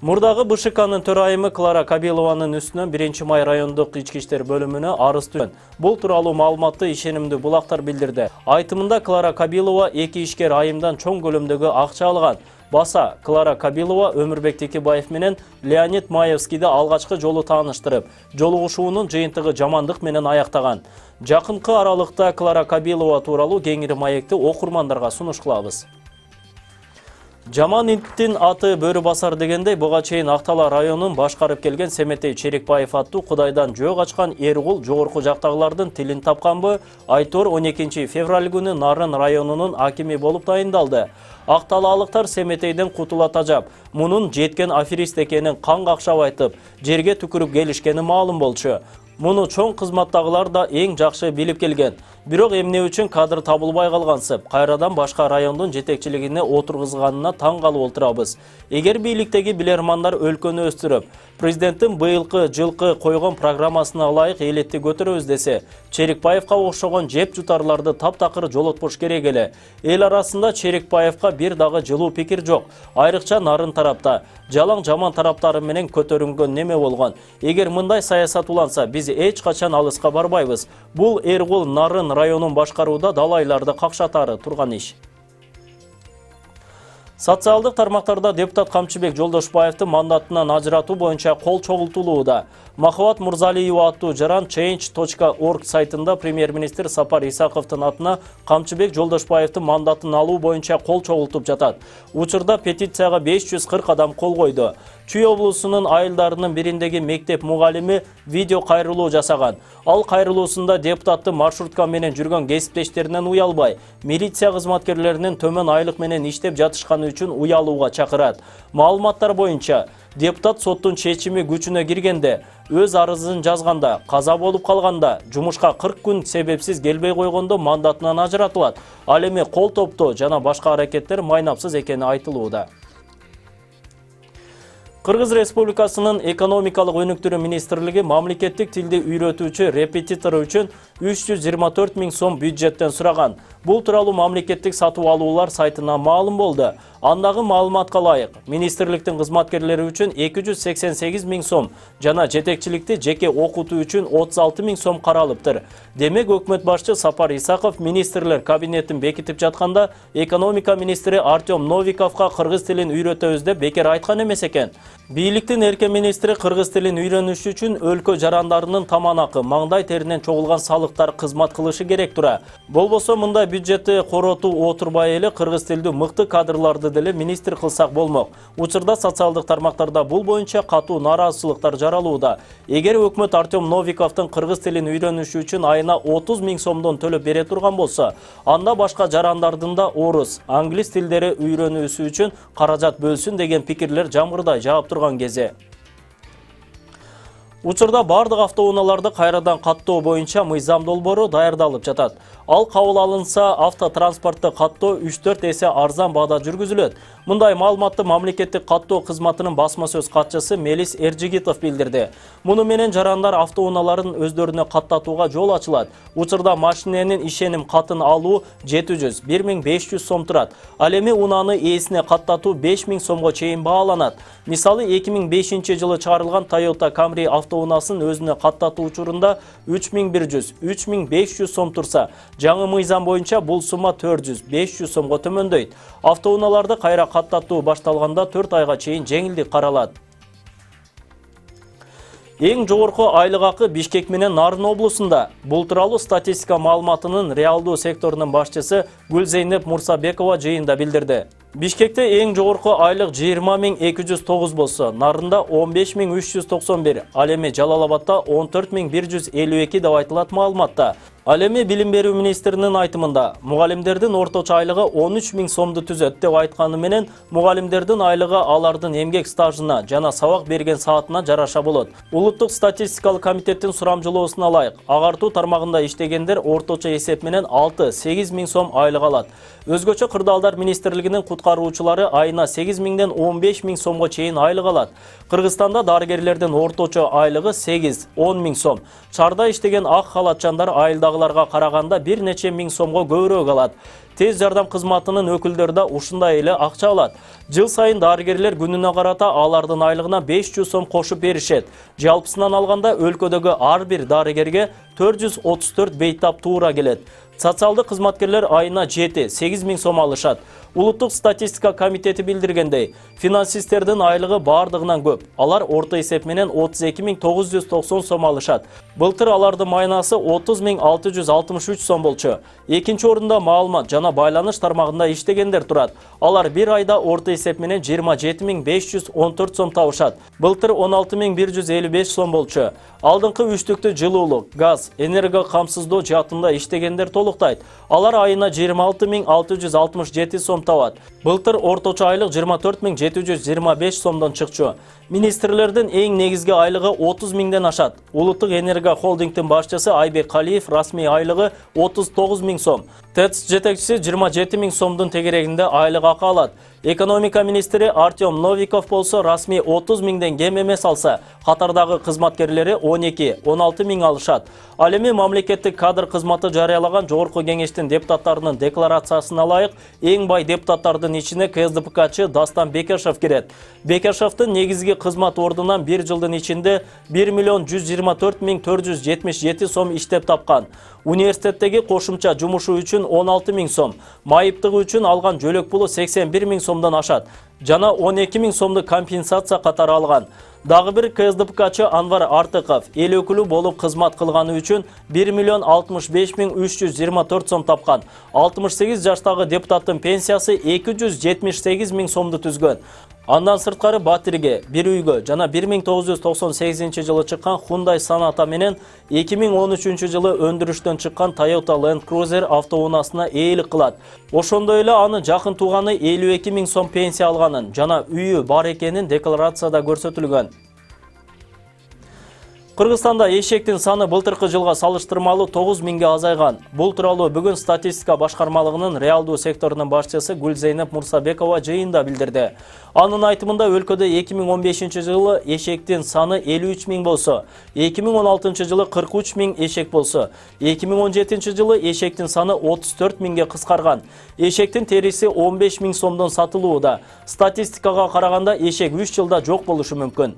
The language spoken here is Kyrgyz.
Мурдагы БШКнын төрайымы Клара Кабилованын үстүнөн 1-май райондук ички иштер бөлүмүнө арыз түшкөн. Бул тууралуу маалыматты ишенимдүү булактар билдирди. Айтымында Клара Кабилова 2 ишкер айымдан чоң көлөмдөгү акча алган. Баса Клара Кабилова Өмүрбек Текебаев менен Леонид Маевскийди алгачкы жолу тааныштырып, жолугушуунун жыйынтыгы жамандык менен аяктаган. Жакынкы аралыкта Клара Кабилова тууралуу кеңири маекти окурмандарга сунуш кылабыз. Жаман иттин аты бөрү басар дегендей, буга чейин Актала районун башкарып келген Семетей Черекбаев аттуу Кудайдан жөө качкан Эргул жогорку жактагылардын тилин тапканбы? Айтор 12 февраль күнү Нарын районунун акими болуп тайындалды. Акталаалыктар Семетейден кутула тажап, мунун жеткен аферист экенин кан какшап айтып, жерге түкүрүп келишкени маалым болчу. Муну чоң кызматтагылар да эң жакшы билип келген. Бирок эмне үчүн кадр табылбай калгансып, кайрадан башка райондун жетекчилигине отургузганына таң калып отурабыз. Эгер бийликтеги билермандар өлкөнү өстүрүп, президенттин быйылкы жылкы койгон программасына ылайык элетти көтөрөбүз десе, Черекбаевка окшогон жеп жутарларды таптакыр жолотпош керек эле. Эл арасында Черекбаевка бир дагы жылуу пикир жок. Айрыкча Нарын тарапта жалаң жаман тараптары менен көтөрүнгөн неме болгон. Эгер мындай саясат уланса, биз эч качан алыска барбайбыз. Бул Эргул Нарын районун башкарууда далайларды какшатары турган иш. Социалдык тармактарда депутат Камчыбек Жолдошбаевди мандатынан ажыратуу боюнча кол чогултулууда. Махабат Мурзалиева аттуу жаран change.org сайтында премьер-министр Сапар Исаковдун атына Камчыбек Жолдошбаевди мандатын алуу боюнча кол чогултуп жатат. Учурда петицияга 540 адам кол койду. Чүй облусунун айылдарынын бириндеги мектеп мугалими видео кайрылуу жасаган. Ал кайрылуусунда депутатты маршрутка менен жүргөн кесиптештеринен уялбай, милиция кызматкерлеринин төмөн айлык менен иштеп жатышканы үчүн уялууга чакырат. Маалыматтар боюнча, депутат соттун чечими күчүнө киргенде, өз арызын жазганда, каза болуп калганда, жумушка 40 күн себепсиз келбей койгондо мандатынан ажыратылат. Ал эми кол топтоо жана башка аракеттер майнапсыз экени айтылууда. Кыргыз Республикасынын экономикалык өнүктүрүү министрлиги мамлекеттик тилди үйрөтүүчү репетитор үчүн 324 000 сом бюджеттен сураган. Бул тууралуу мамлекеттик сатып алуулар сайтына маалым болду. Андагы маалыматка ылайык, министрликтин кызматкерлери үчүн 288 000 сом жана жетекчиликти жеке окутуу үчүн 36 000 сом каралыптыр. Демек, өкмөт башчы Сапар Исаков министрлер кабинетин бекитип жатканда экономика министри Артем Новиковго кыргыз тилин үйрөтөбүз деп бекер айткан эмес экен. Бийликтин эрке министри кыргыз тилин үйрөнүш үчүн өлкө жарандарынын таманакы, маңдай теринен чогулган салыктар кызмат кылышы керек тура. Болбосо мындай бюджетти коротуу отурбай эле кыргыз тилдүү мыкты кадрларды деле министр кылсак болмок. Учурда социалдык тармактарда бул боюнча катуу нааразычылыктар жаралууда. Эгер өкмөт Артем Новиковдун кыргыз тилин үйрөнүшү үчүн айына 30 000 сомдон төлөп бере турган болсо, анда башка жарандардын да орус, англис тилдери үйрөнүүсү үчүн каражат бөлсүн деген пикирлер жамгырдай жаап турган кези. Учурда бардык автоунааларды кайрадан каттоо боюнча мыйзам долбоору даярдалып жатат. Ал кабыл алынса, автотранспортты каттоо 3-4 эсе арзан баада жүргүзүлөт. Мындай маалыматты мамлекеттик каттоо кызматынын басма сөз катчысы Мелис Эржигитов билдирди. Муну менен жарандар автоунааларын өздөрүнө каттатууга жол ачылат. Учурда машиненин ишеним катын алуу 700-1500 сом турат. Ал эми унааны ээсине каттатуу 5000 сомго чейин бааланат. Мисалы 2005-жылы чыгарылган Toyota Camry автоунаасын өзүнө каттатуу учурунда 3100-3500 сом турса, жаңы мыйзам боюнча бул сумма 400-500 сомго төмөндөйт. Автоунааларды кайра каттатуу башталганда 4 айга чейин жеңилдик каралат. Эң жогорку айлык акы Бишкек менен Нарын облусунда. Бул тууралуу статистика маалыматынын реалдуу секторунун башчысы Гүлзейнеп Мурсабекова жыйында билдирди. Бишкекте эң жогорку айлык 20 209 болсо, Нарында 15 391, ал эми Жалал-Абадда 14 152 деп айтылат маалыматта. Ал эми билим берүү министринин айтымында, мугалимдердин орточо айлыгы 13 000 сомду түзөт деп айтканы менен, мугалимдердин айлыгы алардын эмгек стажына жана сабак берген саатына жараша болот. Улуттук статистикалык комитеттин сурамжылоосуна ылайык, агартуу тармагында иштегендер орточо эсеп менен 6-8 000 сом айлык алат. Өзгөчө кырдаалдар министрлигинин куткаруучулары айына 8 миңден 15 миң сомго чейин айлык алат. Кыргызстанда дарыгерлердин орточо айлыгы 8-10 миң сом. Шаарда иштеген ак халатчандар айылдагыларга караганда бир нече миң сомго көбүрөөк алат. Тез жардам кызматынын өкүлдөрү да ушундай эле акча алат. Жыл сайын дарыгерлер күнүнө карата алардын айлыгына 500 сом кошуп беришет. Жалпысынан алганда өлкөдөгү ар бир дарыгерге 434 бейтап туура келет. Социалдык кызматкерлер айына 7-8 миң сом алышат. Улуттук статистика комитети билдиргендей, финансисттердин айлыгы бардыгынан көп. Алар орто эсеп менен 32.990 сом алышат. Былтыр алардын майнасы 30.663 сом болчу. Экинчи орунда маалымат жана байланыш тармагында иштегендер турат. Алар бир айда орто эсеп менен 27.514 сом табышат. Былтыр 16.155 сом болчу. Алдыңкы үчтүктү жылуулук, газ, энерго камсыздоо жаатында иштегендер толуктайт. Алар айына 26.667 сом табат. Былтыр орточо айлык 24.725 сомдон чыкчу. Министрлердин эң негизги айлыгы 30 миңден ашат. Улуттук энерго холдингдин башчысы Айбек Калиев расмий айлыгы 39 миң сом. ТЭЦ жетекчиси 27 миң сомдун тегерегинде айлык акы алат. Экономика министри Артем Новиков болсо расмий 30 миңден кем эмес алса, катардагы кызматкерлери 12-16 миң алышат. Ал эми мамлекеттик кадр кызматы жарыялаган жогорку кеңештин депутаттарынын декларациясына ылайык эң бай депутаттардын ичине КСДПКчы Дастан Бекешев кирет. Бекешевдин негизги кызмат ордунан бир жылдын ичинде 1.124.477 сом иштеп тапкан. Университеттеги кошумча жумушу үчүн 16 миң сом, майыптыгы үчүн алган жөлөк пулу 81 миң сомдон ашат. Жана 12 миң сомду компенсация катары алган. Дагы бир КСДПКчы Анвар Артыков эл өкүлү болуп кызмат кылганы үчүн 1.065.324 сом тапкан. 68 жаштагы депутаттын пенсиясы 278 миң сомду түзгөн. Андан сырткары Батирге, бир үйгө жана 1998 жылы чыккан Hyundai Sonata менен 2013 жылы өндүрүштөн чыккан Toyota Land Cruiser автоунаасына ээлик кылат. Ошондой эле аны жакын тууганы 52 миң сом пенсия алганын жана үйү бар экенин декларацияда көрсөтүлгөн. Кыргызстанда эшектин саны былтыркы жылга салыштырмалуу 9 миңге азайган. Бул тууралуу бүгүн статистика башкармалыгынын реалдуу секторунун башчысы Гүлзейнеп Мурсабекова жыйында билдирди. Анын айтымында өлкөдө 2015 жылы эшектин саны 53 миң болсо, 2016 жылы 43 миң эшек болсо, 2017 жылы эшектин саны 34 миңге кыскарган. Эшектин териси 15 миң сомдон сатылууда. Статистикага караганда эшек 3 жылда жок болушу мүмкүн.